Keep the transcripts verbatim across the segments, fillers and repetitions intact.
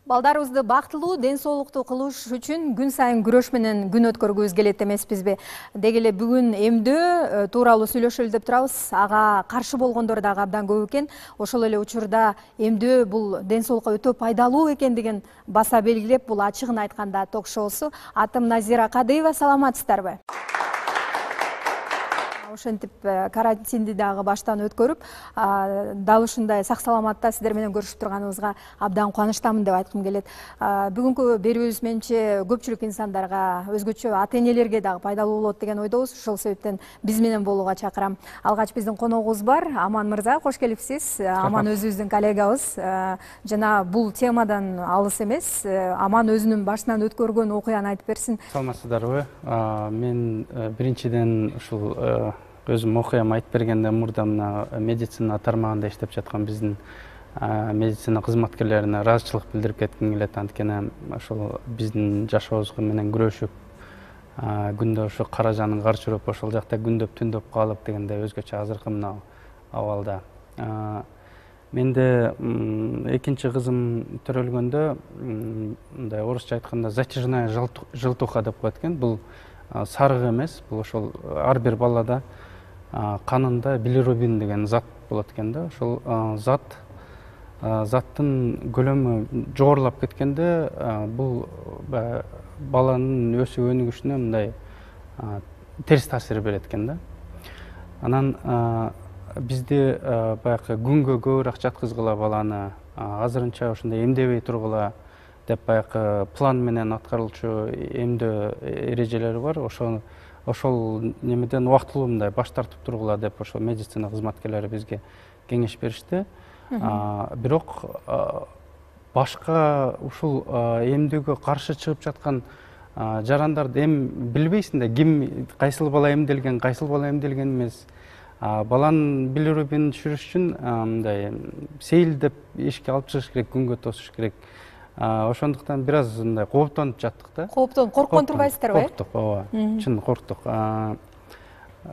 Балдарыбызды бактылуу, ден соолуктуу кылыш үчүн күн сайын күрөш менен күн өткөргүбүз келет эмеспизби? Деги эле бүгүн эмдөө тууралуу сүйлөшөлү деп турабыз. Ага каршы болгондор дагы абдан көп экен. Ошол эле учурда эмдөө бул ден соолукка өтө пайдалуу экендигин баса белгилеп, бул ачыгын айтканда ток-шоусу. Атым Назира Кадыева, саламатсыздарбы? Ошентип карантинди дагы баштан өткөрүп, дал ушундай сак саламатта сиздер менен көрүшүп турганыбызга абдан кубанычтамын деп айткым келет. Бүгүнкү берүүбүз менимче көпчүлүк инсандарга, өзгөчө ата-энелерге дагы пайдалуу болот деген ойдобуз. Ошол себептен биз менен болууга чакырам. Алгач биздин коногубуз бар. Аман мырза, кош келипсиз. Аман өзүбүздүн коллегабыз. Жана бул темадан алыс эмес. Аман өзүнүн башынан өткөргөн окуяны айтып берсин. Саламатсыздарбы? Мен биринчиден ушул өзүм окуям айтып бергенде мурда мына медицина тармагында иштеп жаткан биздин медицина кызматкерлерине ыраазычылык билдирип кетким келет. Анткени ошол биздин жашообузга менен күрөшүп, күндө ошо кара жанын карчырып, ошол жакта күндөп түндөп калып дегендей өзгөчө азыркы мына абалда. Менде экинчи кызым төрөлгөндө мындай орусча айтканда затяжная желтуха деп коет экен. Бул сарык эмес, бул ошол ар бир балада канында билирубин деген зат болот экен да. Ошол зат заттын көлөмү жогорулап кеткенде бул баланын өсүп өнүгүшүнө мындай терс таасир берет экен да. Анан бизди баягы күнгө көбүрөөк жаткызгыла баланы, азырынча ошондой эмдебей тургула деп баягы план менен аткарылчу эмдөө эрежелери бар. Ошол ошол немеден убактылуу мындай баш тартып тургула деп ошол медицина кызматкерлери бизге кеңеш беришти. Бирок башка ушул эмдөөгө каршы чыгып жаткан жарандарды эми билбейсиң да, ким кайсыл бала эмделген, кайсыл бала эмделген эмес. Баланын билирубинин түшүрүш үчүн мындай сейилдеп эшикке алып чыгыш керек, күнгө тосуш керек. Ошондуктан бир аз мындай кооптонуп жаттык да. Кооптонуп, корккон турбайсыздарбы? Корктук, ооба. Чын корктук.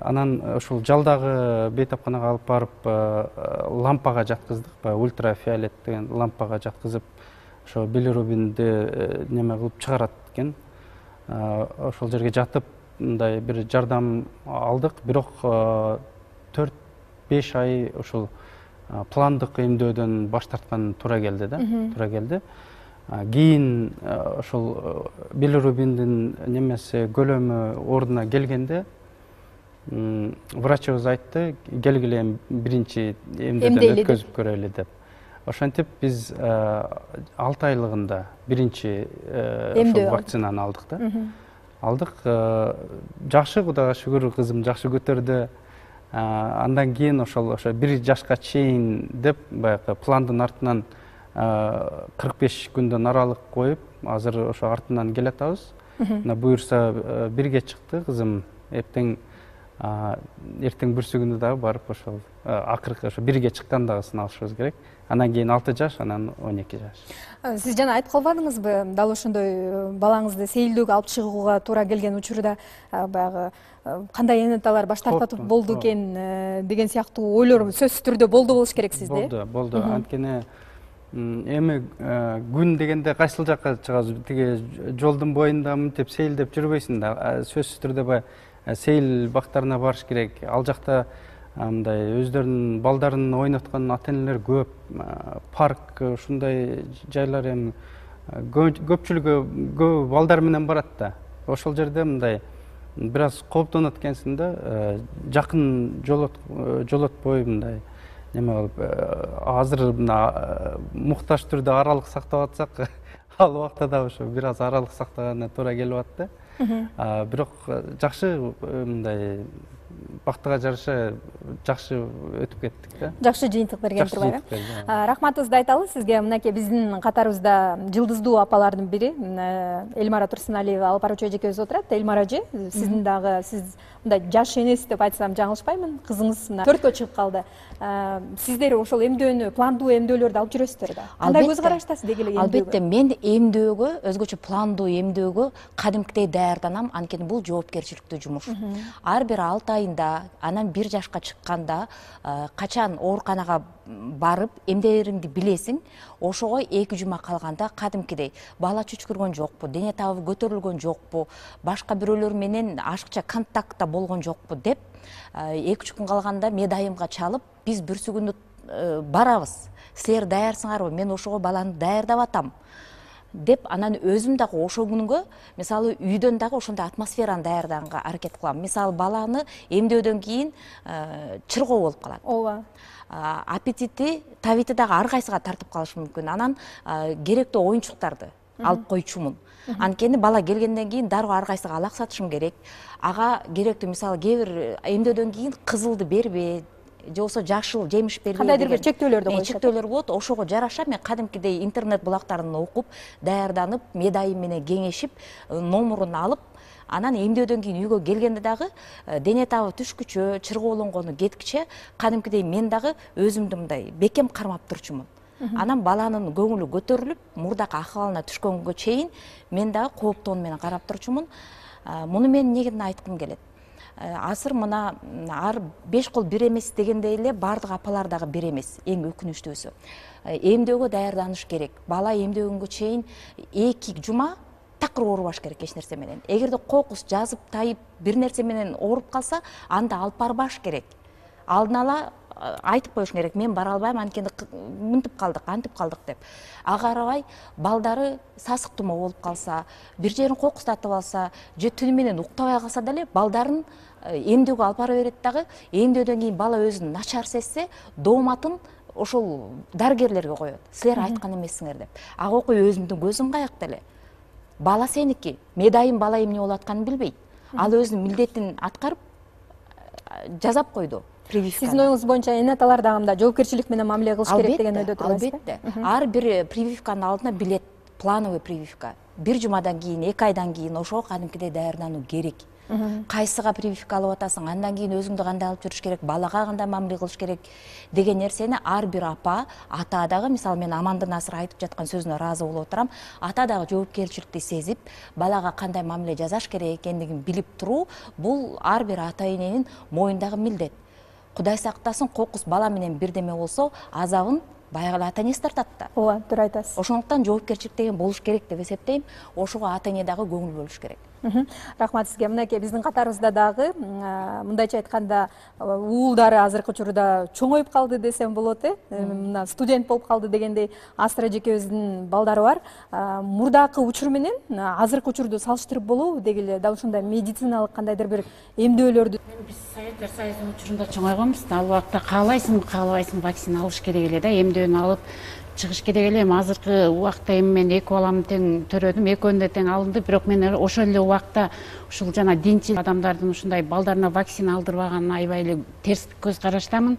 Анан ушул жалдагы бейтапканага алып барып лампага жаткыздык, баягы ультрафиолет деген лампага жаткызып, ошо билирубинди неме кылып чыгарат экен. Ошол жерге жатып мындай бир жардам алдык, бирок төрт беш ай ушул пландык эмдөөдөн баш тарткан туура келди да, туура келди. Кийин ошол билирубиндин немеси көлөмү ордуна келгенде врачыбыз айтты, келгиле биринчи эмдөөдөн өткөзүп көрөлү деп. Ошентип биз алты айлыгында биринчи ошол вакцинаны алдык да. Алдык. Жакшы, Кудайга шүгүр, кызым жакшы көтөрдү. Андан кийин ошол ошо бир жашка чейин деп баягы пландын артынан кырк беш күндөн аралык коюп, азыр ошо артынан келатабыз. Мына буюрса бирге чыкты кызым. Эптең эртең бүрсүгүндө дагы барып ошол акыркы ошо бирге чыкканда сыналышыбыз керек. Анан кийин алты жаш, анан он эки жаш. Сиз жана айтып калбадыңызбы, дал ошондой балаңызды сейилдөөгө алып чыгууга туура келген учурда баягы кандай энеталар баш тартып болду экен деген сыяктуу ойлор сөзсүз түрдө болду болуш керек сизде? Болду, болду. Анткени эми күн дегенде кайсыл жакка чыгабыз? Тиги жолдун боюнда мынтип сейилдеп жүрбөйсүң да. Сөзсүз түрдө баягы сейил бактарына барыш керек. Ал жакта мындай өздөрүнүн балдарын ойноткон ата-энелер көп. Парк, ушундай жайлар эми көпчүлүгү көп балдар менен барат да. Ошол жерде мындай бир аз кооптонот экенсиң да. Жакын жолотпой мындай неме кылып, азыр мына муктаж түрдө аралык сактап атсак, ал убакта да ошо бир аз аралык сактаганына туура келип атты. Бирок жакшы мындай бактыга жараша жакшы өтүп кеттик да. Жакшы жыйынтык берген турбайбы? Рахматыбызды айталы сизге. Мынакей биздин катарыбызда жылдыздуу апалардын бири Эльмара Турсуналиева алып баруучу эжекебиз отурат. Эльмара эже, сиздин дагы сиз мындай жаш энеси деп айтсам жаңылышпаймын. Кызыңыз мына төрткө чыгып калды. Сиздер ошол эмдөөнү, пландуу эмдөөлөрдү алып жүрөсүздөр да. Кандай көз караштасыз деги эле эмдөөгө? Албетте, мен эмдөөгө, өзгөчө пландуу эмдөөгө кадимкидей даярданам, анткени бул жоопкерчиликтүү жумуш. Ар бир алты айында, анан бир жашка чыкканда качан ооруканага барып эмнелериңди билесиң, ошого эки жума калганда кадимкидей бала чүчкүргөн жокпу, дене табы көтөрүлгөн жокпу, башка бирөөлөр менен ашыкча контактта болгон жокпу деп эки үч күн калганда медайымга чалып, биз бүрсү күнү барабыз, силер даярсыңарбы, мен ошого баланы даярдап атам деп, анан өзүм дагы ошол күнгө мисалы үйдөн дагы ошондой атмосфераны даярдаганга аракет кылам. Мисалы баланы эмдөөдөн кийин чыргоо болуп калат. ооба, аппетити, табити дагы ар кайсыга тартып калышы мүмкүн. Анан керектүү оюнчуктарды алып койчумун. Анткени бала келгенден кийин дароо ар кайсыга алаксатышым керек. Ага керектүү мисалы кээ бир эмдөөдөн кийин кызылды бербе, же болбосо жашыл жемиш бербей, кандайдыр бир чектөөлөрдү коюшат. Чектөөлөр болот. Ошого жараша мен кадимкидей интернет булактарын окуп, даярданып, медайым менен кеңешип, номурун алып, анан эмдөөдөн кийин үйгө келгенде дагы дене табы түшкүчө, чыргоолонгону кеткиче кадимкидей мен дагы өзүмдү мындай бекем кармап турчумун. Анан баланын көңүлү көтөрүлүп, мурдакы акыбалына түшкөнгө чейин мен дагы кооптоон менен карап турчумун. Муну мен эмнеден айткым келет? Азыр мына ар беш кол бир эмес дегендей эле баардык апалар дагы бир эмес. Эң өкүнүчтүүсү. Эмдөөгө даярданыш керек. Бала эмдөөгөнгө чейин эки жума такыр оорубаш керек эч нерсе менен. Эгерде кокус жазып тайып бир нерсе менен ооруп калса, анда алып барбаш керек. Алдын ала айтып коюш керек, мен бара албайм, анткени мынтип калдык, антип калдык деп. Ага карабай балдары сасык тумоо болуп калса, бир жерин кокустатып алса, же түнү менен уктабай калса деле балдарын эмдөөгө алып бара берет дагы. Эмдөөдөн кийин бала өзүн начар сезсе, дооматын ошол дарыгерлерге коет. Силер айткан эмессиңер деп. Ага окуя өзүмдүн көзүм каякта эле. Бала сеники, медайым бала эмне болуп атканын билбейт. Ал өзүнүн милдетин аткарып жазап койду. Сиздин оюңуз боюнча эне аталар дагы мындай жоопкерчилик менен мамиле кылыш керек деген ойдо турасызбы? Албетте. Ар бир прививканын алдына билет, плановый прививка. Бир жумадан кийин, эки айдан кийин ошого кадимкидей даярдануу керек. Кайсыга прививка алып атасың, андан кийин өзүңдү кандай алып жүрүш керек, балага кандай мамиле кылыш керек деген нерсени ар бир апа, ата дагы, мисалы мен Амандын азыр айтып жаткан сөзүнө ыраазы болуп отурам, ата дагы жоопкерчиликти сезип, балага кандай мамиле жасаш керек экендигин билип туруу, бул ар бир ата эненин мойнундагы милдет. Кудай сактасын, кокус бала менен бирдеме болсо, азабын баягы эле ата энеси тартат да. Ооба, туура айтасыз. Ошондуктан жоопкерчилик деген болуш керек деп эсептейм. Ошого ата эне дагы көңүл бөлүш керек. Рахмат сизге. Мынакей биздин катарыбызда дагы мындайча айтканда уулдары азыркы учурда чоңоюп калды десем болот, э. Мына студент болуп калды дегендей Астра эжекебиздин балдары бар. Мурдакы учур менен азыркы учурду салыштырып болобу деги эле дал ушундай медициналык кандайдыр бир эмдөөлөрдү. Биз Советтер Союзунун учурунда чоңойгонбуз. Ал убакта каалайсың, каалабайсың вакцина алыш керек эле да, эмдөөнү алып чыгыш керек эле. Азыркы убакта эми мен эки баламды тең төрөдүм, экөөнү да тең алынды, бирок мен ошол эле убакта ушул жана динчил адамдардын ушундай балдарына вакцина алдырбаганына аябай эле терс көз караштамын.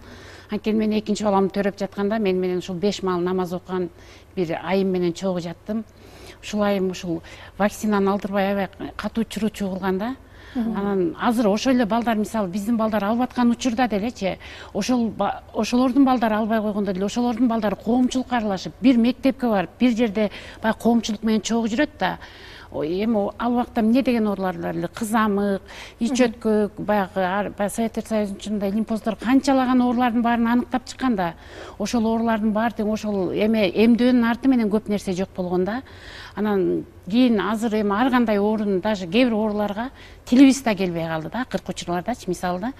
Анткени мен экинчи баламды төрөп жатканда мен менен ушул беш маал намаз окуган бир айым менен чогуу жаттым. Ушул айым ушул вакцинаны алдырбай аябай катуу чуручу кылган да. Анан азыр ошол эле балдар, мисалы биздин балдар алып аткан учурда делечи, ошол ошолордун балдары албай койгондо деле ошолордун балдары коомчулукка аралашып, бир мектепке барып, бир жерде баягы коомчулук менен чогуу жүрөт да. Эми ал убакта эмне деген оорулар бар эле? Кызамык, ич өткөк, баягы Советтер Союзунун учурунда лимфоздор канчалаган оорулардын баарын аныктап чыккан да. Ошол оорулардын баары тең ошол эме эмдөөнүн арты менен көп нерсе жок болгон да. Анан кийин азыр эми ар кандай оорунун, даже кээ бир ооруларга тилибиз да келбей калды да, акыркы учурлардачы мисалы да.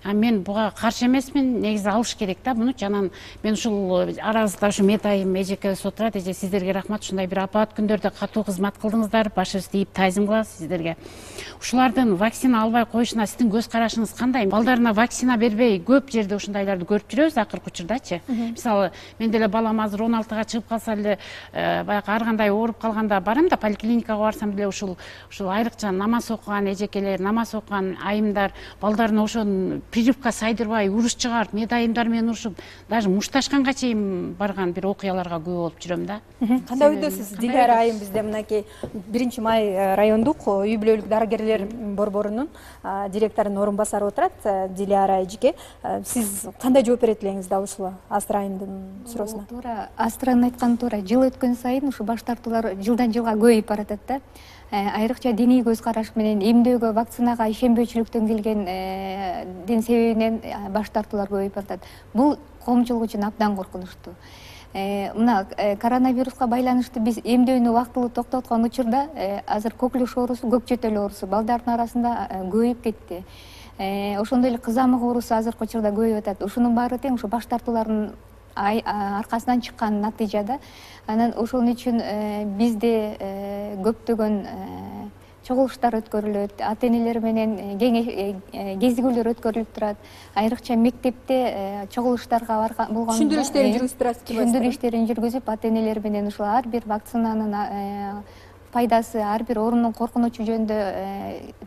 А мен буга каршы эмесмин, негизи алыш керек да муну. Жанан мен ушул арабызда ушу медайым эжекебиз отурат. Эже, сиздерге рахмат, ушундай бир апаат күндөрдө катуу кызмат кылдыңыздар. Башыбызды ийип таазим кылабыз сиздерге. Ушулардын вакцина албай коюшуна сиздин көз карашыңыз кандай? Балдарына вакцина бербей көп жерде ушундайларды көрүп жүрөбүз акыркы учурдачы. Мисалы, мен деле балам азыр он алтыга чыгып калса эле, баягы ар кандай ооруп калганда барам да, поликлиникага барсам деле ушул ушул айрыкча намаз окуган эжекелер, намаз окуган айымдар балдарына ошонун прививка сайдырбай уруш чыгарып, медайымдар менен урушуп, даже мушташканга чейин барган бир окуяларга күбө болуп жүрөм да. Кандай ойдосуз? Диляра айым бизде мынакей биринчи май райондук үй бүлөлүк дарыгерлер борборунун директорунун орун басары отурат, Диляра эжеке. Сиз кандай жооп берет элеңиз дал ушул Астра айымдын суроосуна? Туура, Астранын айтканы туура. Жыл өткөн сайын ушу баш тартуулар жылдан жылга көбөйүп баратат да. айрыкча диний көз караш менен эмдөөгө, вакцинага ишенбөөчүлүктөн келген дин себебинен баш тартуулар көбөйүп атат. Бул коомчулук үчүн абдан коркунучтуу. Мына коронавируска байланыштуу биз эмдөөнү убактылуу токтоткон учурда азыр коклюш оорусу, көк жөтөл оорусу балдардын арасында көбөйүп кетти. Ошондой эле кызамык оорусу азыркы учурда көбөйүп атат. Ушунун баары тең ушу баш тартуулардын аркасынан чыккан натыйжа да. Анан ошон үчүн бизде көптөгөн чогулуштар өткөрүлөт, ата энелер менен кезигүүлөр өткөрүлүп турат. Айрыкча мектепте чогулуштарга болгон түшүндүрүү иштерин жүргүзүп турасыз. Түшүндүрүү иштерин жүргүзүп, ата энелер менен ушул ар бир вакцинанын пайдасы, ар бир оорунун коркунучу жөнүндө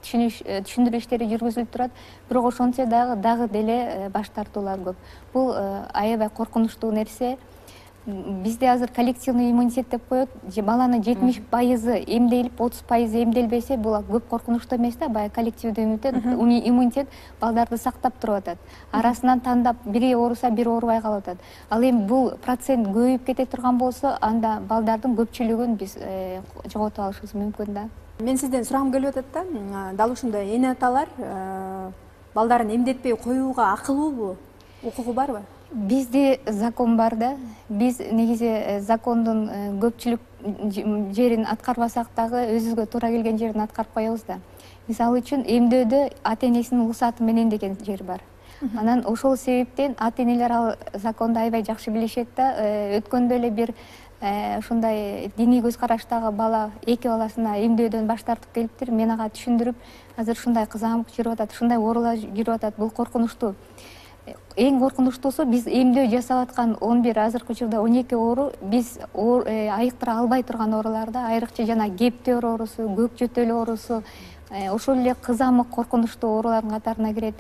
түшүндүрүү иштери жүргүзүлүп турат. Бирок ошентсе дагы дагы деле баш тартуулар көп. Бул аябай коркунучтуу нерсе. Бизде азыр коллективный иммунитет деп коет. Баланын жетимиш пайызы эмделип, отуз пайызы эмделбесе, бул көп коркунучтуу эмес да. Баягы коллективдүү иммунитет балдарды сактап туруп атат. Арасынан тандап, бири ооруса, бири оорубай калып атат. Ал эми бул процент көбөйүп кете турган болсо, анда балдардын көпчүлүгүн биз жоготуп алышыбыз мүмкүн да. Мен сизден сурагым келип атат да. Дал ушундай эне аталар балдарын эмдетпей коюуга акылуубу? Укугу барбы? Бизде закон бар да. Биз негизи закондун көпчүлүк жерин аткарбасак дагы өзүбүзгө туура келген жерин аткарып коебуз да. Мисалы үчүн эмдөөдө ата энесинин уруксаты менен деген жер бар. Анан ошол себептен ата энелер ал законду аябай жакшы билишет да. Өткөндө эле бир ушундай диний көз караштагы бала эки баласына эмдөөдөн баш тартып келиптир. Мен ага түшүндүрүп, азыр ушундай кызамык жүрүп атат, ушундай оорулар жүрүп атат. Бул коркунучтуу. Эң коркунучтуусу биз эмдөө жасап аткан он бир, азыркы учурда он эки оору биз айыктыра албай турган ооруларда, айрыкча жана кептер оорусу, көк жөтөл оорусу, ошол эле кызамык коркунучтуу оорулардын катарына кирет.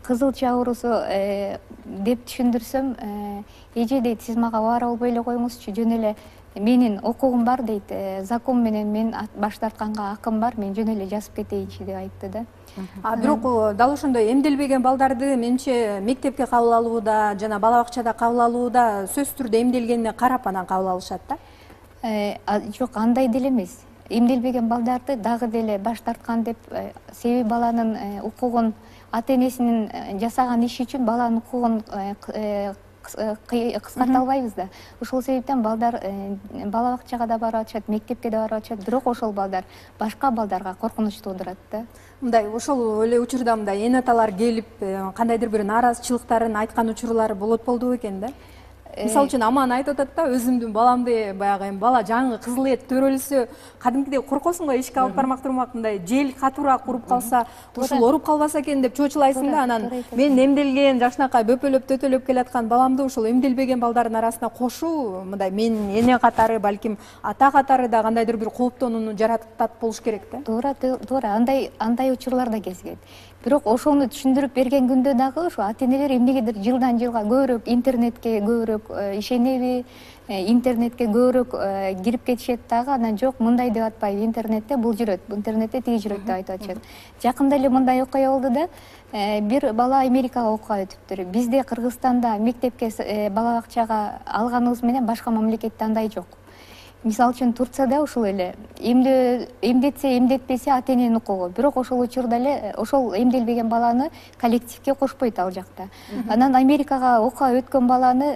Кызылча оорусу деп түшүндүрсөм, эже дейт, сиз мага убара болбой эле коюңузчу, жөн эле менин укугум бар дейт, закон менен мен баш тартканга акым бар, мен жөн эле жазып кетейинчи деп айтты да. А бирок дал ошондой эмделбеген балдарды менимче мектепке кабыл алууда жана бала бакчада кабыл алууда сөзсүз түрдө эмделгенине карап анан кабыл алышат да. Жок, андай деле эмес. Эмделбеген балдарды дагы деле баш тарткан деп, себеби баланын укугун, ата энесинин жасаган иши үчүн баланын укугун кыскарта албайбыз да. Ошол себептен балдар бала бакчага да барып атышат, мектепке да барып атышат, бирок ошол балдар башка балдарга коркунуч туудурат да. Мындай ошол эле учурда мындай эне аталар келип кандайдыр бир нааразычылыктарын айткан учурлар болот болду экен да. Мисалы үчүн Аман айтып атат да, өзүмдүн баламды баягы эми бала жаңы кызыл эт төрөлсө, кадимкидей коркосуң го, эшикке алып бармак турмак, мындай жел катуураак уруп калса, ушул ооруп калбаса экен деп чочулайсың да. Анан мен эмделген, жакшынакай бөпөлөп төтөлөп келаткан баламды ушул эмделбеген балдардын арасына кошуу, мындай менин эне катары, балким ата катары да кандайдыр бир кооптонууну жаратат болуш керек да. Туура, туура. Андай андай учурлар да кезигет. Бирок ошону түшүндүрүп берген күндө дагы ошо ата энелер эмнегедир жылдан жылга көбүрөөк интернетке көбүрөөк ишенеби, интернетке көбүрөөк кирип кетишет дагы. Анан жок, мындай деп атпайбы, интернетте бул жүрөт, интернетте тиги жүрөт деп айтып атышат. Жакында эле мындай окуя болду да. Бир бала Америкага окууга өтүптүр. Бизде Кыргызстанда мектепке, бала бакчага алганыбыз менен башка мамлекетте андай жок. Мисалы үчүн Турцияда ушул эле эмдетсе, эмдетпесе ата эненин укугу. Бирок ошол учурда эле ошол эмделбеген баланы коллективге кошпойт ал жакта. Анан Америкага окууга өткөн баланы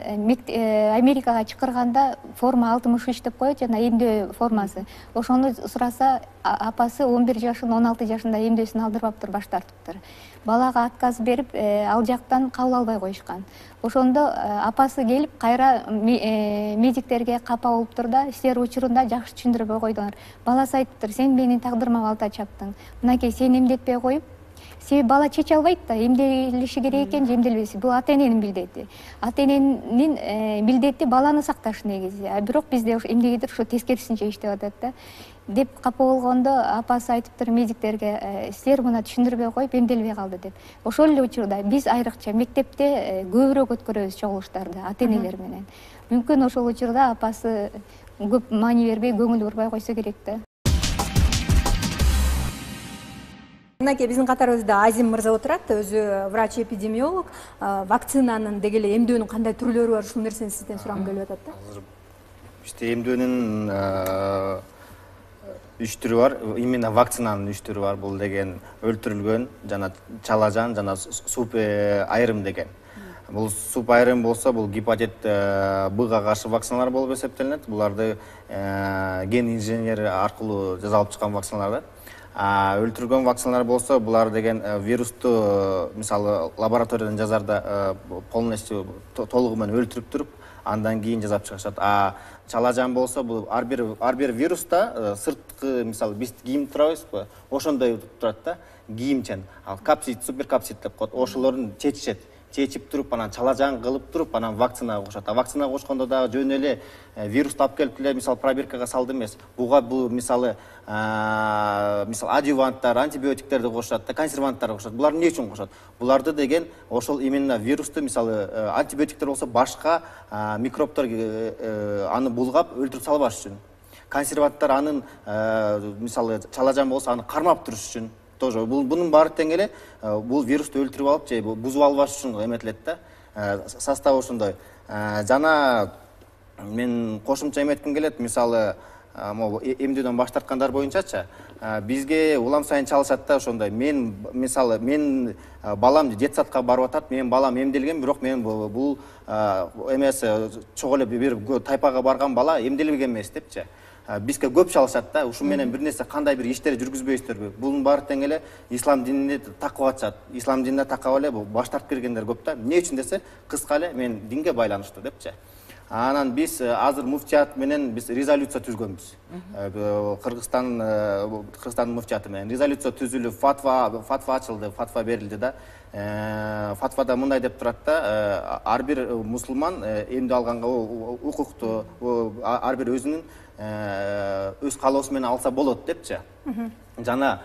Америкага чакырганда форма алтымыш үч деп коет, жана эмдөө формасы. Ошону сураса, апасы он бир жашында, он алты жашында эмдөөсүн алдырбаптыр, баш тартыптыр. Балага отказ берип, ал жактан кабыл албай коюшкан. Ошондо апасы келип, кайра медиктерге капа болуптур да, силер учурунда жакшы түшүндүрбөй койдуңар. Баласы айтыптыр, сен менин тагдырыма балта чаптың. Мынакей, сен эмдетпей коюп, себеби бала чече албайт да, эмделиши керек экен же эмделбеси. Бул ата эненин милдети. Ата эненин милдети баланы сакташ негизи. А бирок бизде эмнегедир ошо тескерисинче иштеп атат да. Деп капа болгондо апасы айтыптыр медиктерге, силер муну түшүндүрбөй коюп эмделбей калды деп. Ошол эле учурда биз айрыкча мектепте көбүрөөк өткөрөбүз чогулуштарды ата энелер менен. Мүмкүн ошол учурда апасы көп маани бербей, көңүл бурбай койсо керек да. Мынакей биздин катарыбызда Азим мырза отурат, өзү врач-эпидемиолог. Вакцинанын деги эле эмдөөнүн кандай түрлөрү бар, ушул нерсени сизден сурагым келип атат да. Бизде эмдөөнүн үч түрү бар. Именно вакцинанын үч түрү бар. Бул деген өлтүрүлгөн, жана чалажан, жана суп айрым деген. Бул суп айрым болсо, бул гепатит Б-га каршы вакциналар болуп эсептелинет. Буларды ген инженери аркылуу жасалып чыккан вакциналар. Өлтүргөн вакциналар болсо, булар деген вирусту мисалы лабораториядан жазарда полностью толугу менен өлтүрүп туруп, андан кийин жасап чыгышат. А чалажан болсо, бул ар бир ар бир вируста сырткы, мисалы биз кийим турабызбы, ошондой турат да, кийимчен. Ал капсид, суперкапсид деп коет. Ошолорун чечишет. Чечип туруп, анан чалажан кылып туруп, анан вакцинага кошот. А вакцинага кошкондо дагы жөн эле вирусту алып келип эле, мисалы пробиркага салды эмес. Буга бул мисалы мисалы адъюванттар, антибиотиктерди кошот да, консерванттарды кошот. Булар эмне үчүн кошот? Буларды деген ошол именно вирусту, мисалы антибиотиктер болсо башка микробтор аны булгап өлтүрүп салбаш үчүн. Консерванттар анын мисалы чалажан болсо аны кармап туруш үчүн. Тоже бунун баары тең эле бул вирусту өлтүрүп алып же бузуп албаш үчүн эметилет да. Составы ошондой. Жана мен кошумча эметким келет, мисалы могу эмдөөдөн баш тарткандар боюнчачы, бизге улам сайын чалышат да ошондой. Мен мисалы мен балам детсадка барып атат, менин балам эмделген, бирок мен бул эмеси чогуу эле бир тайпага барган бала эмделбеген эмес депчи. Бизге көп чалышат да, ушу менен бир нерсе кандай бир иштер жүргүзбөйсүздөрбү? Бунун баары тең эле ислам динине такып атышат. Ислам динине такап эле баш тартып киргендер көп да. Эмне үчүн десе, кыска эле мен динге байланыштуу депчи. Анан биз азыр муфтият менен биз резолюция түзгөнбүз. Кыргызстан Кыргызстандын муфтияты менен резолюция түзүлүп, фатва фатва ачылды, фатва берилди да. Фатвада мындай деп турат да, ар бир мусулман эмдөө алганга укуктуу, ар бир өзүнүн өз каалоосу менен алса болот депчи. Жана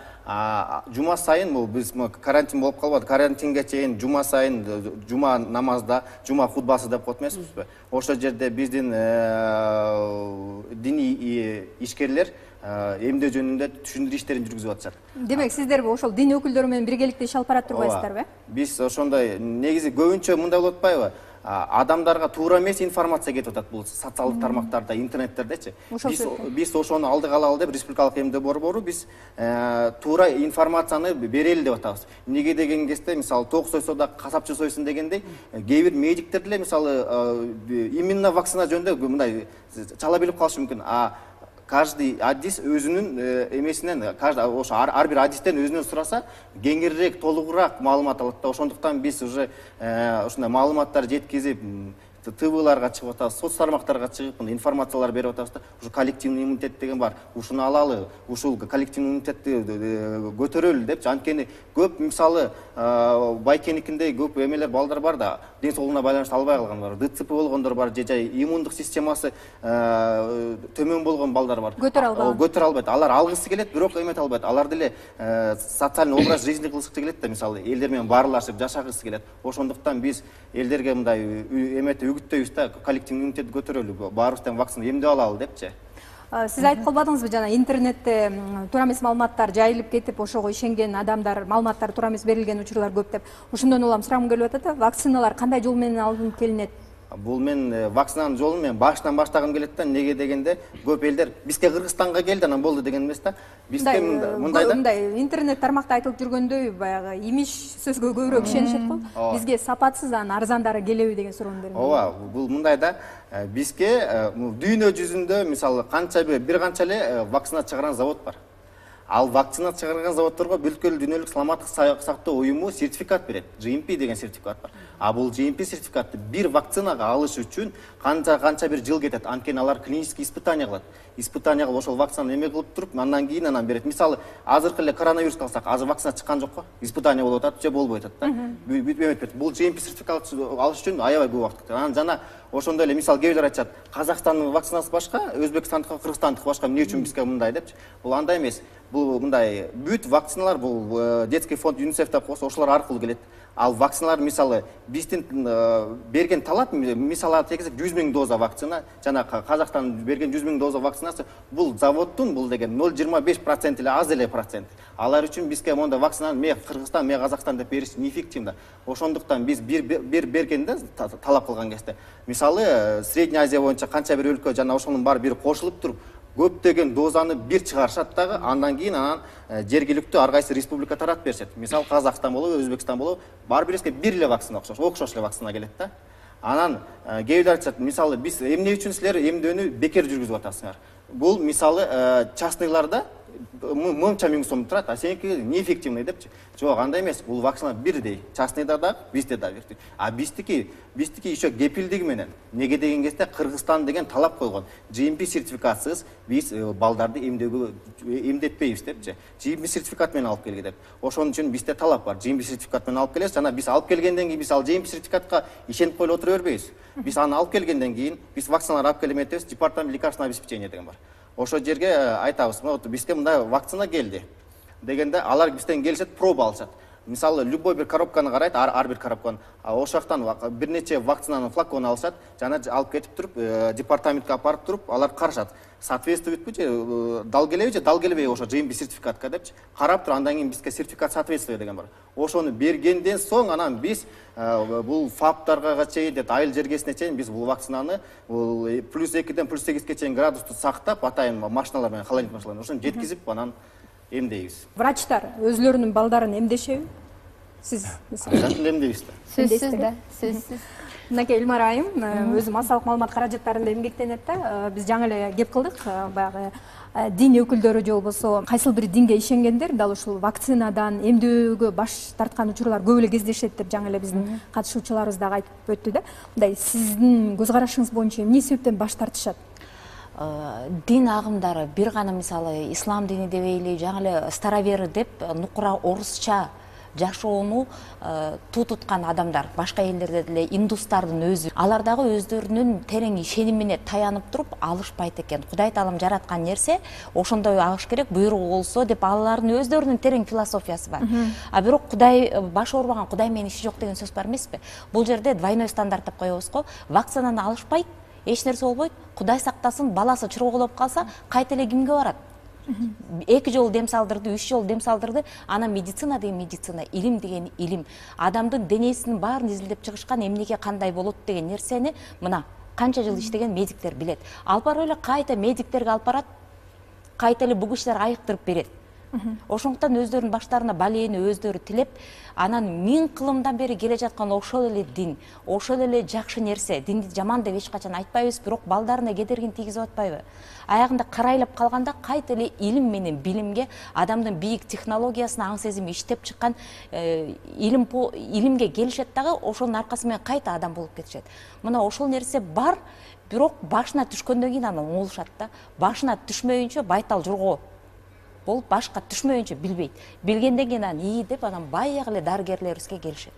жума сайын бул биз карантин болуп калбады. Карантинге чейин жума сайын жума намазда, жума хутбасы деп коет эмеспизби? Ошол жерде биздин диний ишкерлер эмдөө жөнүндө түшүндүрүү иштерин жүргүзүп атышат. Демек, сиздер ошол дин өкүлдөрү менен биргеликте иш алып барат турбайсыздарбы? Биз ошондой негизи көбүнчө мындай болуп атпайбы? Адамдарга туура эмес информация кетип атат бул социалдык тармактарда, интернеттердечи. Биз биз ошону алдыга алалы деп республикалык эмдөө борбору биз туура информацияны берели деп атабыз. Эмнеге деген кезде, мисалы ток сойсо да касапчы сойсун дегендей, кээ бир медиктер деле мисалы именно вакцина жөнүндө мындай чала билип калышы мүмкүн. А каждый адис өзүнүн эмесинен, ошо ар бир адистен өзүнөн сураса, кеңирирээк, толугураак маалымат алат да. Ошондуктан биз уже ушундай маалыматтар жеткизип, ТВларга чыгып атабыз, соц тармактарга чыгып, информациялар берип атабыз да. Ушу коллективный иммунитет деген бар. Ушуну алалы, ушул коллективный иммунитетти көтөрөлү депчи. Анткени көп мисалы байкеникиндей көп эмелер балдар бар да, ден соолугуна байланыштуу албай калган бар. ДЦП болгондор бар, же жай иммундук системасы төмөн болгон балдар бар. Көтөрө албайт. Көтөрө албайт. Алар алгысы келет, бирок эмете албайт. Алар деле социальный образ жизни кылгысы келет да, мисалы элдер менен баарлашып жашагысы келет. Ошондуктан биз элдерге мындай эметип үгүттөйбүз да, коллективный иммунитетти көтөрөлү, баарыбыз тең вакцина эмдеп алалы депчи. Сиз айтып калбадыңызбы, жана интернетте туура эмес маалыматтар жайылып кетип, ошого ишенген адамдар, маалыматтар туура эмес берилген учурлар көп деп. Ошондон улам сурагым келип атат, вакциналар кандай жол менен алынып келинет? Бул мен вакцинанын жолун мен башынан баштагым келет да. Неге дегенде, көп элдер бизге Кыргызстанга келди, анан болду деген эмес да. Бизге мындай да. Мындай интернет тармакта айтылып жүргөндөй, баягы имиш сөзгө көбүрөөк ишенишет го. Бизге сапатсыз, анан арзандары келеби деген суроону бердим. Ооба, бул мындай да. Бизге дүйнө жүзүндө мисалы канча бир канча эле вакцина чыгарган завод бар. Ал вакцина чыгарган заводдорго бүткүл дүйнөлүк саламаттык сактоо уюму сертификат берет. джи эм пи деген сертификат бар. А бул джи эм пи сертификатты бир вакцинага алыш үчүн канча канча бир жыл кетет. Анткени алар клинический испытание кылат. Испытание кылып ошол вакцинаны эме кылып туруп, андан кийин анан берет. Мисалы, азыркы эле коронавирус алсак, азыр вакцина чыккан жок го. Испытание болуп атат, же болбой атат да. Бүтүп эметпейт. Бул джи эм пи сертификат алыш үчүн аябай көп убакыт кетет. Анан жана ошондой эле мисалы кээ бирлер айтышат, Казакстандын вакцинасы башка, Өзбекстандыкы, Кыргызстандыкы башка, эмне үчүн бизге мындай депчи. Бул андай эмес. Бул мындай бүт вакциналар бул детский фонд ЮНИСЕФ деп койсо, ошолор аркылуу келет. Ал вакциналар мисалы биздин берген талап, мисалы тегиз жүз миң доза вакцина, жана Казакстан берген жүз миң доза вакцинасы бул заводдун бул деген ноль жыйырма беш процент эле аз эле процент. Алар үчүн бизге монда вакцинаны ме Кыргызстан, ме Казакстан деп бериш неэффективно. Ошондуктан биз бир бир бергенде талап кылган кезде, мисалы Средняя Азия боюнча канча бир өлкө жана ошонун баары бир кошулуп туруп көптөгөн дозаны бир чыгарышат дагы, андан кийин анан жергиликтүү ар кайсы республика таратып беришет. Мисалы Казакстан болобу, Өзбекстан болобу, баары бирибизге бир эле вакцина окшош, окшош эле вакцина келет да. Анан кээ бирлер айтышат, мисалы биз эмне үчүн силер эмдөөнү бекер жүргүзүп атасыңар? Бул мисалы частныйларда мынча миң сом турат, а сеники неэффективный депчи. Жок, андай эмес. Бул вакцина бирдей. Частныйда да, бизде да бирдей. А биздики, биздики еще кепилдиги менен. Неге деген кезде Кыргызстан деген талап койгон. джи эм пи сертификатсыз биз балдарды эмдөөгө эмдетпейбиз депчи. джи эм пи сертификат менен алып келге деп. Ошон үчүн бизде талап бар. джи эм пи сертификат менен алып келесиз, жана биз алып келгенден кийин биз ал джи эм пи сертификатка ишенип коюп отура бербейбиз. Биз аны алып келгенден кийин биз вакциналарды алып келип эметебиз, департамент лекарственного обеспечения деген бар. Ошо жерге айтабыз, вот бизге мындай вакцина келди дегенде алар бизден келишет, проба алышат. Мисалы любой бир коробканы карайт, ар бир коробканы. Ошол жактан бир нече вакцинанын флаконун алышат, жана алып кетип туруп, департаментке апарып туруп, алар карашат. Соответствуетпи же, дал келеби же, дал келбейби ошо джи эм пи сертификатка депчи. Карап туруп, андан кийин бизге сертификат соответствие деген бар. Ошону бергенден соң анан биз бул фаптарга чейин, айыл жергесине чейин биз бул вакцинаны бул плюс экиден плюс сегизге чейин градусту сактап, атайын машиналар менен, холодильник машиналар менен ошону жеткизип анан эмдейбиз. Врачтар өзлөрүнүн балдарын эмдешеби? Сиз Обязательно эмдейбиз да. Сөзсүз да, сөзсүз. Мынакей Элмар айым, өзүм массалык маалымат каражаттарында эмгектенет да. Биз жаңы эле кеп кылдык, баягы дин өкүлдөрү же болбосо кайсыл бир динге ишенгендер дал ушул вакцинадан эмдөөгө баш тарткан учурлар көп эле кездешет деп жаңы эле биздин катышуучуларыбыз дагы айтып өттү да. Мындай сиздин көз карашыңыз боюнча эмне себептен баш тартышат? Дин агымдары бир гана мисалы ислам дини дебейли, жаңы эле старовер деп нукура орусча жашоону туу туткан адамдар, башка элдерде деле индустардын өзү, алар дагы өздөрүнүн терең ишенимине таянып туруп алышпайт экен. Кудай таалам жараткан нерсе ошондой агыш керек, буйругу болсо деп алардын өздөрүнүн терең философиясы бар. А бирок Кудай баш оорубаган Кудай менен иши жок деген сөз бар эмеспи? Бул жерде двойной стандарт деп коебуз го. Вакцинаны алышпайт, эч нерсе болбойт. Кудай сактасын, баласы чурголоп калса, кайта эле кимге барат? Эки жолу дем салдырды, үч жолу дем салдырды. Анан медицина деген медицина, илим деген илим. Адамдын денесинин баарын изилдеп чыгышкан, эмнеге кандай болот деген нерсени мына канча жыл иштеген медиктер билет. Алып барып эле кайта медиктерге алып барат, кайта эле буг иштер айыктырып берет. Ошондуктан өздөрүнүн баштарына балээни өздөрү тилеп, анан миң кылымдан бери келе жаткан ошол эле дин, ошол эле жакшы нерсе. Динди жаман деп эч качан айтпайбыз, бирок балдарына кедергин тийгизип атпайбы? Аягында карайлап калганда кайта эле илим менен билимге, адамдын бийик технологиясына аң сезими иштеп чыккан илим илимге келишет дагы, ошонун аркасы менен кайта адам болуп кетишет. Мына ошол нерсе бар, бирок башына түшкөндөн кийин анан оңолушат да. Башына түшмөйүнчө байтал журго болуп, башка түшмөйүнчө билбейт. Билгенден кийин анан ии деп анан баягы эле дарыгерлерибизге келишет.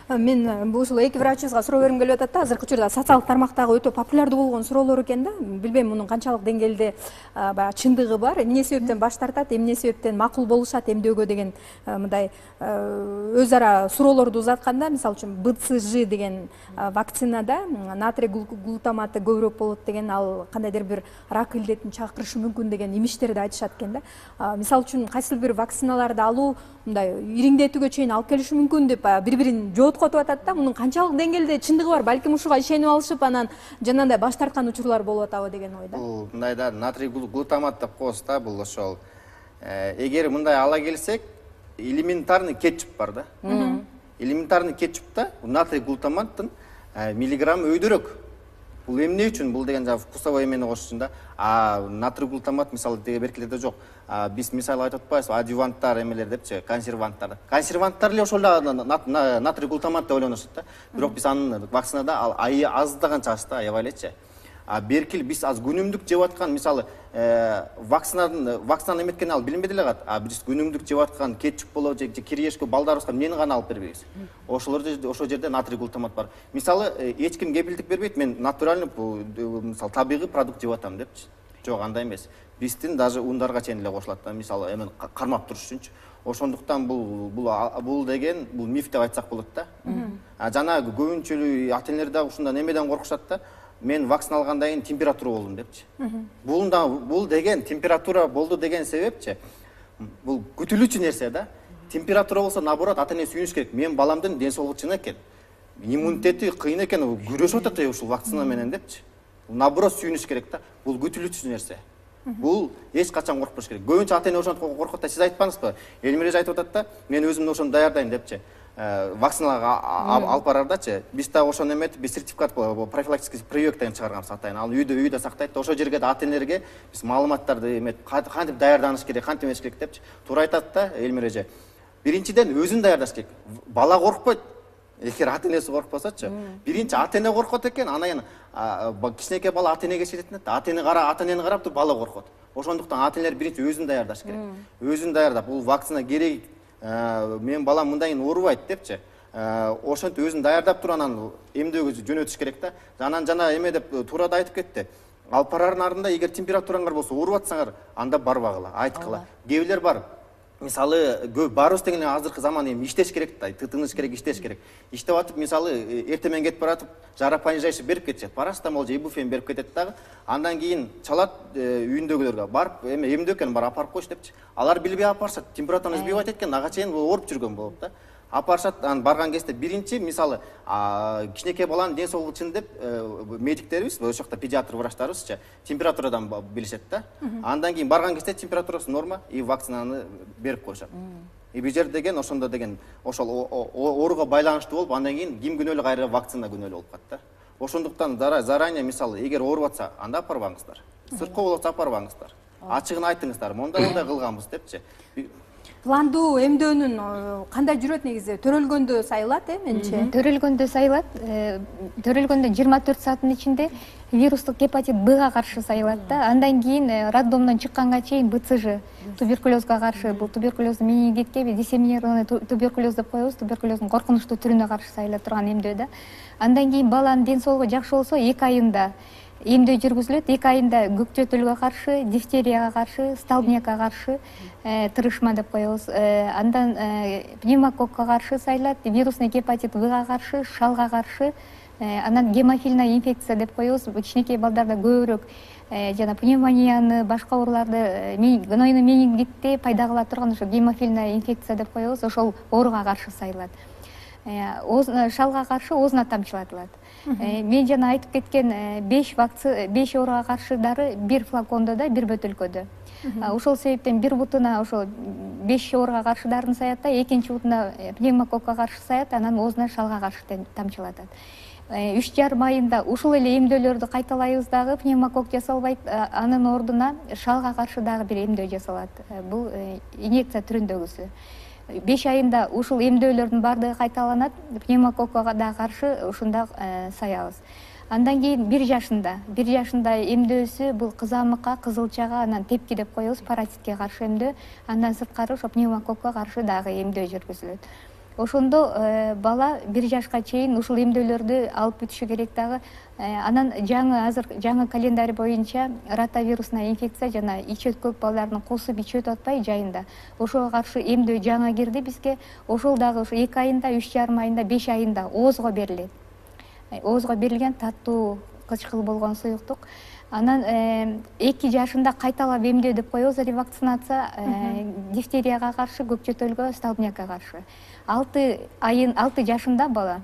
Мен ушул эки врачыбызга суроо бергим келип атат да. Азыркы учурда социалдык тармактагы өтө популярдуу болгон суроолор экен да. Билбейм мунун канчалык деңгээлде баягы чындыгы бар, эмне себептен баш тартат, эмне себептен макул болушат эмдөөгө деген мындай өз ара суроолорду узатканда, мисалы үчүн бэ цэ жэ деген вакцинада натрий глутаматы көбүрөөк болот деген, ал кандайдыр бир рак илдетин чакырышы мүмкүн деген имиштерди айтышат экен да. Мисалы үчүн кайсыл бир вакциналарды алуу мындай ириңдетүүгө чейин алып келиши мүмкүн деп бири-бирин жооткотуп атат да. Мунун канчалык деңгээлде чындыгы бар? Балким ушуга ишенип алышып, анан жанагындай баш тарткан учурлар болуп атабы деген ойда. Бул мындай да, натрий глутамат деп коебуз да, бул ошол. Эгер мындай ала келсек, элементарный кетчуп бар да. Элементарный кетчупта натрий глутаматтын миллиграммы өйдөрөөк. Бул эмне үчүн? Бул деген жана вкусовой эмени кошушун да. А натрий глутамат мисалы деге беркилерде жок. Биз мисалы айтып атпайбызбы, адюванттар эмелер депчи, консерванттар. Консерванттар эле ошол натрий глутамат деп ойлонушат да. Бирок биз анын вакцинада ал аздаган чагыш да, аябай элечи. А беркил биз аз күнүмдүк жеп аткан, мисалы, вакцинанын вакцинаны эметкен ал билинбей деле калат. А биз күнүмдүк жеп аткан кетчуп болобу же кириешке балдарыбызга эмнени гана алып бербейбиз. Ошолор ошол жерде натрий глутамат бар. Мисалы, эч ким кепилдик бербейт, мен натуральный, мисалы, табигый продукт жеп атам депчи. Жок, андай эмес. Биздин даже ундарга чейин эле кошулат да, мисалы, эмен кармап туруш үчүнчү. Ошондуктан бул бул бул деген бул миф деп айтсак болот да. А жана көбүнчөлүү ата-энелер дагы ушундан эмеден коркушат да. Мен вакцина алгандан кийин температура болдум депчи. Бул да бул деген температура болду деген себепчи. Бул күтүлүүчү нерсе да. Температура болсо наоборот ата-эне сүйүнүш керек. Мен баламдын ден соолугу чын экен. Иммунитети кыйын экен, күрөшүп атат ушул вакцина менен депчи. Наоборот сүйүнүш керек да. Бул күтүлүүчү нерсе. Бул эч качан коркпош керек. Көбүнчө ата эне ошентип коркот да, сиз айтпаңызбы? Элмиреж айтып атат да, мен өзүмдү ошону даярдайм депчи. Вакциналарга алып барардачы, биз да ошону эметип, биз сертификат профилактический прививок деген чыгарганбыз атайын. Ал үйдө үйдө сактайт да, ошол жерге да ата энелерге биз маалыматтарды эметип, кантип даярданыш керек, кантип эмеш керек депчи. Туура айтат да Элмиреже. Биринчиден өзүн даярдаш керек. Бала коркпойт. Эгер ата энеси коркпосочу, биринчи ата эне коркот экен, анан кичинекей бала ата энеге жетет да, ата эне кара, ата энени карап туруп бала коркот. Ошондуктан ата энелер биринчи өзүн даярдаш керек. Өзүн даярдап, бул вакцина керек, менин балам мындайын оорубайт депчи. Ошентип өзүн даярдап туруп анан эмдөөгө жөнөтүш керек да. Анан жана эме деп туура да айтып кетти. Алып барардын ардында эгер температураңар болсо, ооруп атсаңар, анда барбагыла, айткыла. Кээ бирлер бар. Мисалы, көп барыбыз деген азыркы заман эми иштеш керек да, тытыныш керек, иштеш керек. Иштеп атып, мисалы, эртең менен кетип баратып, жарапонижайшы берип кетет. Парастамол же ибуфен берип кетет дагы. Андан кийин чалат үйүндөгүлөргө барып, эме эмдөө экен, бар апарып койчу депчи. Алар билбей алып барышат. Температураны сбивать эткен, ага чейин ооруп жүргөн болот да. Апарышат, анан барган кезде биринчи, мисалы, кичинекей баланын ден соолугу үчүн деп медиктерибиз, ошол жакта педиатр врачтарыбызчы температурадан билишет да. Андан кийин барган кезде температурасы норма и вакцинаны берип коюшат. И бул жер деген ошондо деген ошол ооруга байланыштуу болуп, андан кийин ким күнөөлүү, кайра вакцина күнөөлүү болуп калат да. Ошондуктан заранее, мисалы, эгер ооруп атса, анда апарбаңыздар. Сырткы болуп атса апарбаңыздар. Ачыгын айтыңыздар, мондай-мондай кылганбыз депчи. Пландуу эмдөөнүн кандай жүрөт негизи? Төрөлгөндө сайылат, э, менчи? Төрөлгөндө сайылат. Төрөлгөндө жыйырма төрт сааттын ичинде вирустук гепатит Бга каршы сайылат да. Андан кийин роддомдон чыкканга чейин Б Ц Ж туберкулезга каршы, бул туберкулездун менингитке диссеминированный туберкулез деп коебуз, туберкулездун коркунучтуу түрүнө каршы сайыла турган эмдөө да. Андан кийин баланын ден соолугу жакшы болсо эки айында эмдөө жүргүзүлөт. эки айында көк жөтөлгө каршы, дифтерияга каршы, столбнякка каршы тырышма деп коебуз. Андан пневмококко каршы сайылат, вирусный гепатит Бга каршы, шалга каршы, анан гемофильная инфекция деп коебуз. Кичинекей балдарда көбүрөөк жана пневмонияны, башка ооруларды, гнойный менингитти пайда кыла турган ошо гемофильная инфекция деп коебуз. Ошол ооруга каршы сайылат. Шалга каршы оозуна тамчылатылат. Мен жана айтып кеткен беш вакцина, беш ооруга каршы дары бир флакондо да, бир бөтөлкөдө. Ошол себептен бир бутуна ошол беш ооруга каршы дарыны саят да, экинчи бутуна пневмококко каршы саят, анан оозуна шалга каршы тамчылатат. үч жарым айында ушул эле эмдөөлөрдү кайталайбыз дагы, пневмокок жасалбайт, анын ордуна шалга каршы дагы бир эмдөө жасалат. Бул инъекция түрүндөгүсү. беш айында ушул эмдөөлөрдүн баардыгы кайталанат, пневмококко да каршы ушунда саябыз. Андан кийин бир жашында, бир жашында эмдөөсү бул кызамыкка, кызылчага, анан тепки деп коебуз, паразитке каршы эмдөө. Андан сырткары ошо пневмококко каршы дагы эмдөө жүргүзүлөт. Ошондо бала бир жашка чейин ушул эмдөөлөрдү алып бүтүшү керек дагы. Анан жаңы азыр жаңы календарь боюнча ротавирусная инфекция жана ич өткөк балдардын кусуп ич өтүп атпай жайында. Ошого каршы эмдөө жаңы кирди бизге. Ошол дагы ушу эки айында, үч жарым айында, беш айында оозго берилет. Оозго берилген таттуу кычкыл болгон суюктук. Анан эки жашында кайталап эмдөө деп коебуз, ревакцинация, дифтерияга каршы, көк жөтөлгө, столбнякка каршы. алты айын, алты жашында бала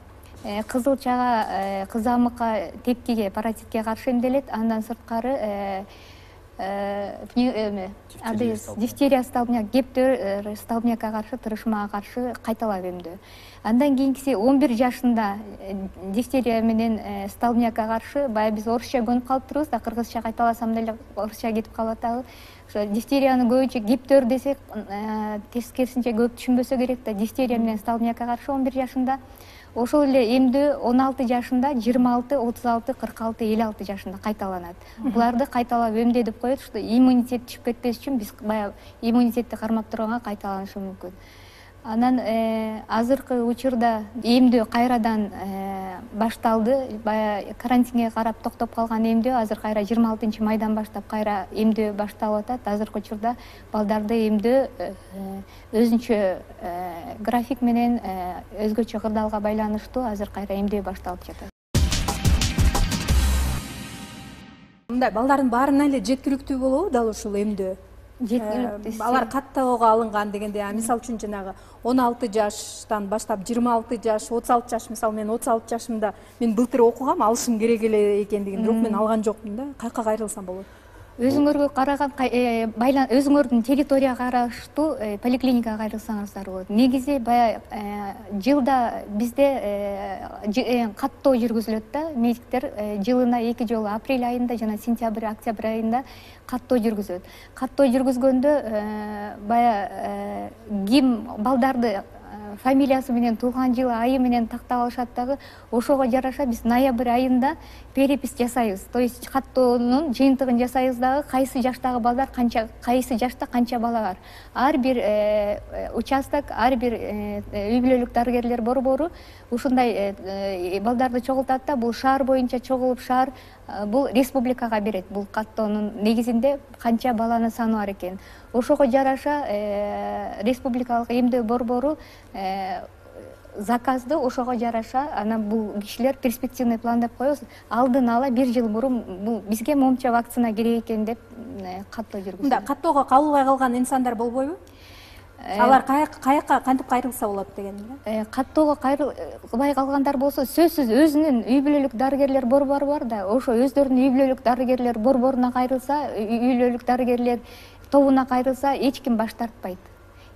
кызылчага, кызамыкка, тепкиге, паразитке каршы эмделет. Андан сырткары дифтерия, столбняк, гептер, столбнякка каршы, тырышмага каршы кайталап эмдөө. Андан кийинкиси он бир жашында дифтерия менен столбнякка каршы, бая биз орусча көнүп калыптырбыз да, кыргызча кайталасам деле орусча кетип калат дагы. Ошо дифтерияны көбүнчө гептер десек, тескерисинче көп түшүнбөсө керек да, дифтерия менен столбнякка каршы он бир жашында. Ошол эле эмдөө он алты жашында, жыйырма алты, отуз алты, кырк алты, элүү алты жашында кайталанат. Буларды кайталап эмдөө деп коет, что иммунитет түшүп кетпеш үчүн биз бая иммунитетти кармап турганга кайталанышы мүмкүн. Анан азыркы учурда эмдөө кайрадан башталды. Бая карантинге карап токтоп калган эмдөө азыр кайра жыйырма алтынчы майдан баштап кайра эмдөө башталып атат. Азыркы учурда балдарды эмдөө өзүнчө график менен өзгөчө кырдаалга байланыштуу азыр кайра эмдөө башталып жатат. Мындай балдардын баарына эле жеткиликтүү болобу дал ушул эмдөө? Алар каттоого алынган дегенде, мисалы үчүн жанагы он алты жаштан баштап жыйырма алты жаш, отуз алты жаш, мисалы мен отуз алты жашымда мен былтыр окугам, алышым керек эле экендигин, бирок мен алган жокмун да. Каяка кайрылсам болот? өзүңөргө караган өзүңөрдүн территорияга караштуу поликлиникага кайрылсаңыздар болот. Негизи баягы жылда бизде каттоо жүргүзүлөт да. Медиктер жылына эки жолу апрель айында жана сентябрь, октябрь айында каттоо жүргүзөт. Каттоо жүргүзгөндө баягы ким балдарды фамилиясы менен, туулган жылы, айы менен тактап алышат дагы. Ошого жараша биз ноябрь айында перепись жасайбыз. То есть каттоонун жыйынтыгын жасайбыз дагы, кайсы жаштагы балдар канча, кайсы жашта канча бала бар. Ар бир участок, ар бир үй бүлөлүк дарыгерлер борбору ушундай балдарды чогултат да. Бул шаар боюнча чогулуп, шаар бул республикага берет. Бул каттоонун негизинде канча баланын саны бар экен. Ошого жараша республикалык эмдөө борбору заказды ошого жараша анан бул кишилер перспективный план деп коебуз. Алдын ала бир жыл мурун бул бизге моунча вакцина керек экен деп каттоо жүргүзүлөт. Мында каттоого кабылбай калган инсандар болбойбу? Алар каяка кантип кайрылса болот дегенде? Каттоого кайрылбай калгандар болсо, сөзсүз өзүнүн үй бүлөлүк дарыгерлер борбору бар да. Ошо өздөрүнүн үй бүлөлүк дарыгерлер борборуна кайрылса, үй бүлөлүк дарыгерлер тобуна кайрылса, эч ким баш тартпайт.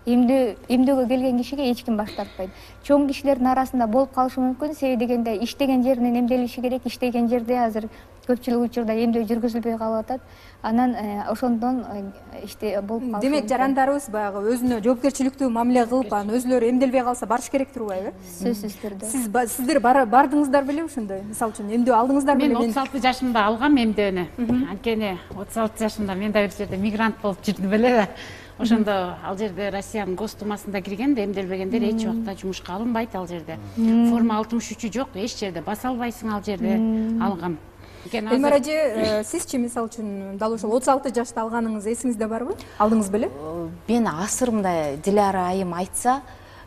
Эмдөө эмдөөгө келген кишиге эч ким баш тартпайт. Чоң кишилердин арасында болуп калышы мүмкүн. Себеби дегенде иштеген жеринен эмделиши керек. Иштеген жерде азыр көпчүлүк учурда эмдөө жүргүзүлбөй калып атат. Анан ошондон иште болуп калышы. Демек жарандарыбыз баягы өзүнө жоопкерчиликтүү мамиле кылып, анан өзүлөрү эмделбей калса барыш керек турбайбы? Сөзсүз түрдө. Сиз сиздер бардыңыздар беле ошондой? Мисалы үчүн эмдөө алдыңыздар беле? Мен отуз алты жашымда алгам эмдөөнү. Анткени отуз алты жашымда мен да бир жерде мигрант болуп жүрдүм беле да. Ошондо ал жерде Россиянын Гостумасында кирген да, эмделбегендер эч убакта жумушка алынбайт ал жерде. Форма алтымыш үчү жок, эч жерде баса албайсың ал жерде. Алгам. Элмира эже, сизчи мисалы үчүн дал ошол отуз алты жашта алганыңыз эсиңизде барбы? Алдыңыз беле? Мен асыр мындай Диляра айым айтса,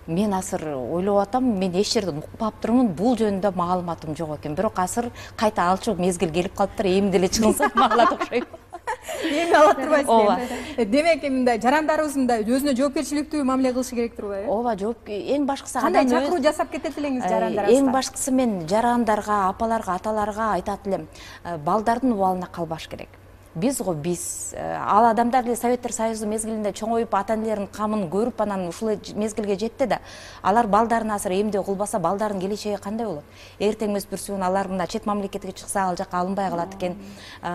мен асыр ойлоп атам, мен эч жерден укпап турмун, бул жөнүндө маалыматым жок экен. Бирок асыр кайта алчу мезгил келип калыптыр, эмделе чыгылса маалат окшойт. Эми ала турбайсыз. Демек мындай жарандарыбыз мындай өзүнө жоопкерчиликтүү мамиле кылышы керек турбайбы? Ооба, жооп эң башкысы кандай чакыруу жасап кетет элеңиз жарандарыбызга? Эң башкысы мен жарандарга, апаларга, аталарга айтат элем, балдардын убалына калбаш керек. Биз го биз ал адамдар эле Советтер Союзу мезгилинде чоңоюп ата-энелеринин камын көрүп анан ушул мезгилге жетти да. Алар балдарын азыр эмдөө кылбаса, балдардын келечеги кандай болот? Эртең өспүрсүн алар мына чет мамлекетке чыкса, ал жакка алынбай калат экен.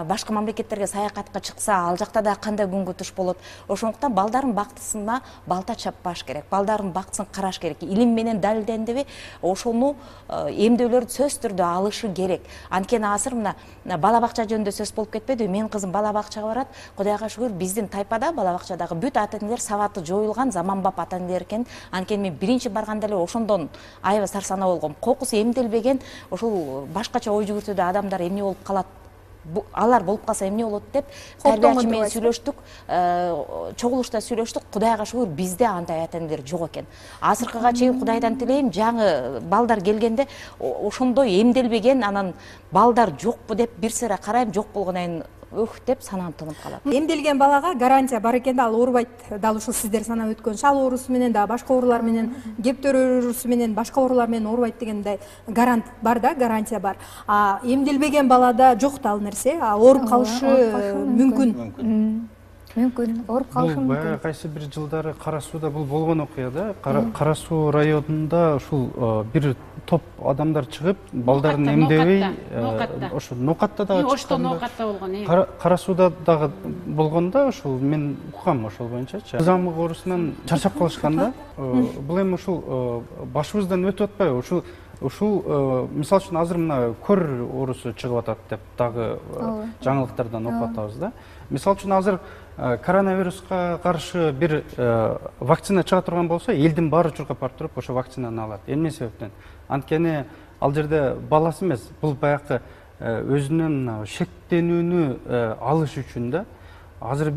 Башка мамлекеттерге саякатка чыкса, ал жакта да кандай күнгө туш болот? Ошондуктан балдардын бактысына балта чаппаш керек. Балдардын бактысын караш керек. Илим менен далилдендиби, ошону эмдөөлөрдү сөзсүз түрдө алышы керек. Анткени азыр мына бала бакча жөнүндө сөз болуп кетпеди. Мен кызым бала бакчага барат. Кудайга шүгүр, биздин тайпада бала бакчадагы бүт ата-энелер сабаты жоюлган заманбап ата-энелер экен. Анткени мен биринчи барганда эле ошондон аябай сарсанаа болгом. Кокусу эмделбеген, ошол башкача ой жүгүртүүдө адамдар эмне болуп калат? Алар болуп калса эмне болот деп тарбиячы менен сүйлөштүк, чогулушта сүйлөштүк. Кудайга шүгүр, бизде андай ата-энелер жок экен. Азыркыга чейин Кудайдан тилейм, жаңы балдар келгенде ошондой эмделбеген, анан балдар жокпу деп бир сыра карайм, жок болгондон кийин өх деп санам тынып калат. Эмделген балага гарантия бар экен да, ал оорубайт. Дал ушул сиздер санап өткөн шал оорусу менен да, башка оорулар менен, кептер оорусу менен, башка оорулар менен оорубайт дегендей гарант бар да, гарантия бар. А эмделбеген балада жок да ал нерсе, ооруп калышы мүмкүн. Мүмкүн, ооруп калышы мүмкүн. Бул кайсы бир жылдары Кара Сууда бул болгон окуя да. Кара Суу районунда ушул бир топ адамдар чыгып, балдарын эмдебей, ошо Ноокатта дагы чыккан. Ошто Ноокатта болгон. Кара Сууда дагы болгондо ушул мен уккам ошол боюнчачы. Кызамык оорусунан чарчап калышкан да. Бул эми ушул башыбыздан өтүп атпайбы? Ушул ушул мисалы үчүн азыр мына көр оорусу чыгып атат деп дагы жаңылыктардан окуп атабыз да. Мисалы үчүн азыр коронавируска каршы бир вакцина чыга турган болсо, элдин баары чуркап барып туруп ошо вакцинаны алат. Эмне себептен? Анткени ал жерде баласы эмес, бул баягы өзүнүн шектенүүнү алыш үчүн да. Азыр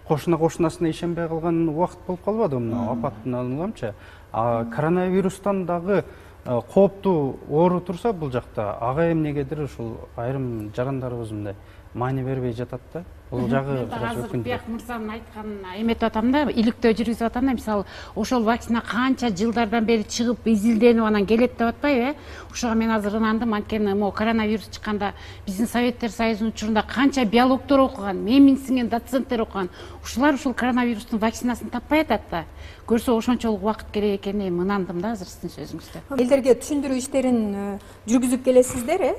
кошуна кошунасына ишенбей калган убакыт болуп калбадыбы мына апаттын алынганчы. Коронавирустан дагы кооптуу оору турса бул жакта ага эмнегедир ушул айрым жарандарыбыз мындай маани бербей жатат да. Бул жагы азыр Бияк мырзанын айтканына эметип атам да, иликтөө жүргүзүп атам да, мисалы ошол вакцина канча жылдардан бери чыгып изилденип анан келет деп атпайбы, э? Ошого мен азыр ынандым, анткени могу коронавирус чыкканда биздин Советтер Союзунун учурунда канча биологдор окуган, менин сиңген доценттер окуган. Ушулар ушул коронавирустун вакцинасын таппай атат да. Көрсө ошончолук убакыт керек экенине ынандым да азыр сиздин сөзүңүздө. Элдерге түшүндүрүү иштерин жүргүзүп келесиздер, э?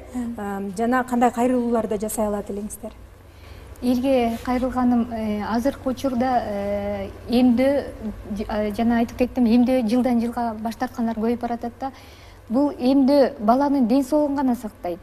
Жана кандай кайрылууларды жасай алат элеңиздер? Элге кайрылганым азыркы учурда эмдөө, жана айтып кеттим, эмдөө жылдан жылга баш тарткандар көбөйүп баратат да. Бул эмдөө баланын ден соолугун гана сактайт.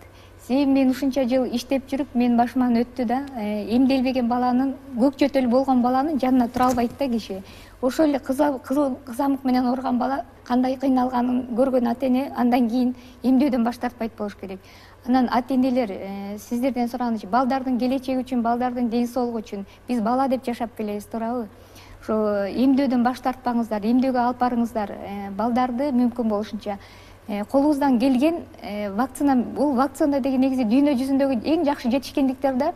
Себеби мен ушунча жыл иштеп жүрүп, мен башыман өттү да, эмделбеген баланын, көк жөтөл болгон баланын жанына тура албайт да киши. Ошол эле кызыл кызамык менен ооруган бала кандай кыйналганын көргөн ата эне андан кийин эмдөөдөн баш тартпайт болуш керек. Анан ата энелер сиздерден сураганычы, балдардын келечеги үчүн, балдардын ден соолугу үчүн биз бала деп жашап келебиз, туурабы? Ошо эмдөөдөн баш тартпаңыздар, эмдөөгө алып барыңыздар, балдарды мүмкүн болушунча. Колубуздан келген вакцина, бул вакцина деген негизи дүйнө жүзүндөгү эң жакшы жетишкендиктер да.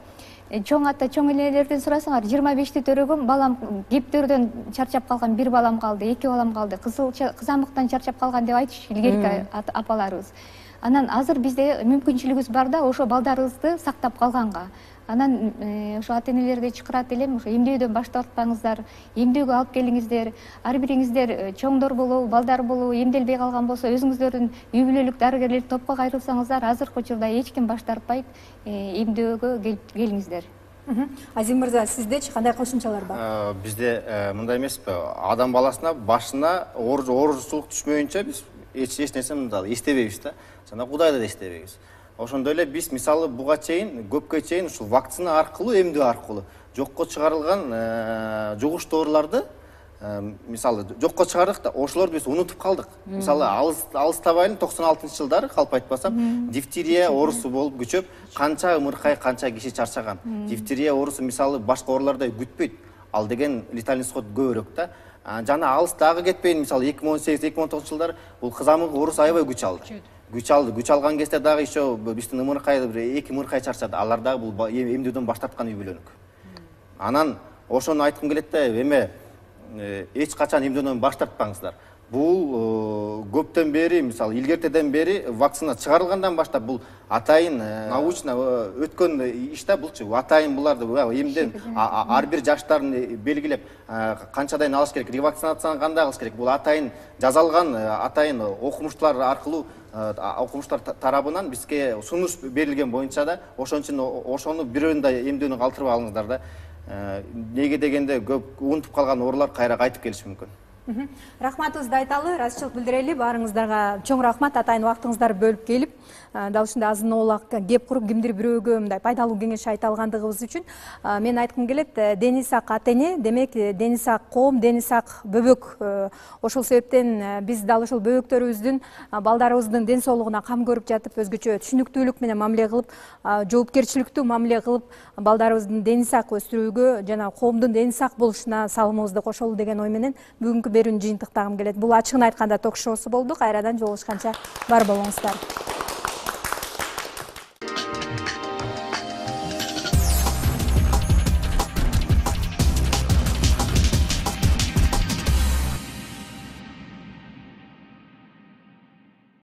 Чоң ата, чоң энелерден сурасаңар, жыйырма бешти төрөгөм, балам кептөрдөн чарчап калган, бир балам калды, эки балам калды, кызыл кызамыктан чарчап калган деп айтыш илгерки апаларыбыз. Анан азыр бизде мүмкүнчүлүгүбүз бар да, ошо балдарыбызды сактап калганга. Анан ошо ата энелерди чакырат элем, ошо эмдөөдөн баш тартпаңыздар, эмдөөгө алып келиңиздер. Ар бириңиздер чоңдор болобу, балдар болобу, эмделбей калган болсо, өзүңүздөрдүн үй бүлөлүк дарыгерлер топко кайрылсаңыздар, азыркы учурда эч ким баш тартпайт, эмдөөгө келиңиздер. Азим мырза, сиздечи кандай кошумчалар бар? Бизде мындай эмеспи, адам баласына башына ооручулук түшмөйүнчө биз эч нерсе мындай эстебейбиз да. Жана Кудайды да эстебейбиз. Ошондой эле биз мисалы буга чейин, көпкө чейин ушул вакцина аркылуу, эмдөө аркылуу жокко чыгарылган жугуш дооруларды мисалы жокко чыгардык да, ошолорду биз унутуп калдык. Мисалы алыстабайлы токсон алтынчы жылдары калп айтпасам, дифтерия оорусу болуп күчөп, канча ымыркай, канча киши чарчаган. Дифтерия оорусу мисалы башка оорулардай күтпөйт. Ал деген летальный исход көбүрөөк да. Жана алыс дагы кетпейин, мисалы эки миң он сегиз эки миң он тогузунчу жылдары бул кызамык оорусу аябай күч алды. Күч алды. Күч алган кезде дагы еще биздин ымыркай, эки ымыркай чарчады. Алар дагы бул эмдөөдөн баш тарткан үй бүлөнүк. Анан ошону айткым келет да, эме эч качан эмдөөдөн баш тартпаңыздар. Бул көптөн бери, мисалы илгертеден бери вакцина чыгарылгандан баштап бул атайын научно өткөн иш да булчу. Атайын буларды эмден ар бир жаштарын белгилеп канчадан алыш керек, ревакцинацияны кандай кылыш керек. Бул атайын жазалган, атайын окумуштуулар аркылуу, окумуштуулар тарабынан бизге сунуш берилген боюнча да, ошон үчүн ошону бирөөнү да эмдөөнү калтырып алыңыздар да. Неге дегенде көп унутуп калган оорулар кайра кайтып келиши мүмкүн. Рахматыбызды айталы, ыраазычылык билдирели. Баарыңыздарга чоң рахмат, атайын убактыңыздарды бөлүп келип, дал ушундай азын оолак кеп куруп кимдир бирөөгө мындай пайдалуу кеңеш айта алгандыгыбыз үчүн мен айткым келет, дени сак ата эне, демек дени сак коом, дени сак бөбөк. Ошол себептен биз дал ушул бөбөктөрүбүздүн, балдарыбыздын ден соолугуна кам көрүп жатып, өзгөчө түшүнүктүүлүк менен мамиле кылып, жоопкерчиликтүү мамиле кылып, балдарыбыздын дени сак өстүрүүгө жана коомдун дени сак болушуна салымыбызды кошолу деген ой менен бүгүнкү берүүнү жыйынтыктагым келет. Бул ачыгын айтканда ток шоусу болду. Кайрадан жолугушканча бар болуңуздар.